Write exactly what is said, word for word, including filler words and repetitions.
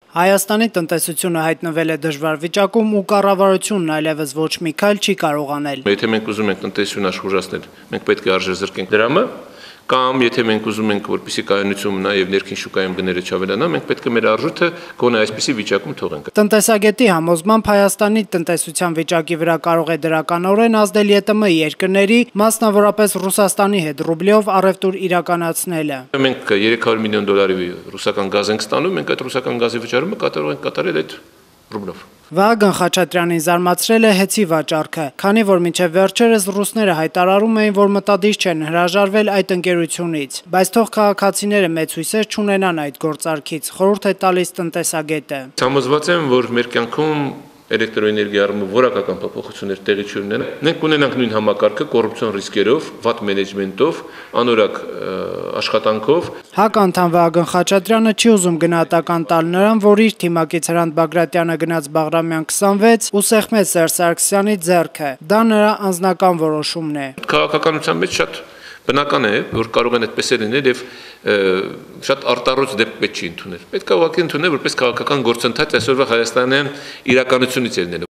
Հայաստանի տնտեսությունը հայտնվել է դժվար վիճակում ու կառավարությունն այլևս ոչ մի քայլ չի կարող անել։ Եթե մենք ուզում ենք տնտեսությունը աշխուժացնել, մենք պետք է արժեզրկենք դրամը, կամ եթե մենք ուզում ենք, որպեսզի կայունություն մնա եւ ներքին շուկայում գները չավելանա, մենք պետք է մեր արժույթը գոնե այսպիսի վիճակում թողենք։ Տնտեսագետի համոզմամբ Հայաստանի տնտեսության վիճակի վրա կարող է դրականորեն ազդել ԵՏՄ երկրների, մասնավորապես Ռուսաստանի հետ ռուբլիով առևտուր իրականացնելը։ Մենք երեք հարյուր միլիոն դոլարի ռուսական գազ ենք ստանում, մենք այդ ռուսական գազի վճարումը կատարող ենք կատարել այդ ռուբլով։ Վահագն Խաչատրյանին զարմացրել է հեցի վաճառքը, քանի որ մինչև վերջերս ռուսները հայտարարում էին, որ մտադիր չեն հրաժարվել այդ ընկերությունից, բայց թող քաղաքացիները մեծ հույսեր չունենան այդ գործարքից, խորհուրդ է տալիս տնտեսագետը։ Համոզված եմ, որ մեր կյանքում էլեկտրոէներգիայի առումով որակական փոփոխություններ տեղի չունեն։ Մենք ունենանք նույն համակարգը կոռուպցիոն ռիսկերով, վատ մենեջմենտով, անորակ աշխատանքով։ ՀԱԿ անդամ Վահագն Խաչատրյանը չի ուզում գնահատական տալ նրան, որ իր թիմակից Հրանտ Բագրատյանը գնաց Բաղրամյան քսանվեց ու սեղմեց Սերժ Սարգսյանի ձեռքը։ Դա նրա անձնական որոշումն է։ Քաղաքականության մեջ շատ բնական է, որ կարող են այդպես լինել եւ շատ արտառոց դեպք պետք չի ընդունել։ Պետք է ուղղակի ընդունել որպես քաղաքական գործընթաց այսօրվա հայաստանյան իրականությունից ելնելու։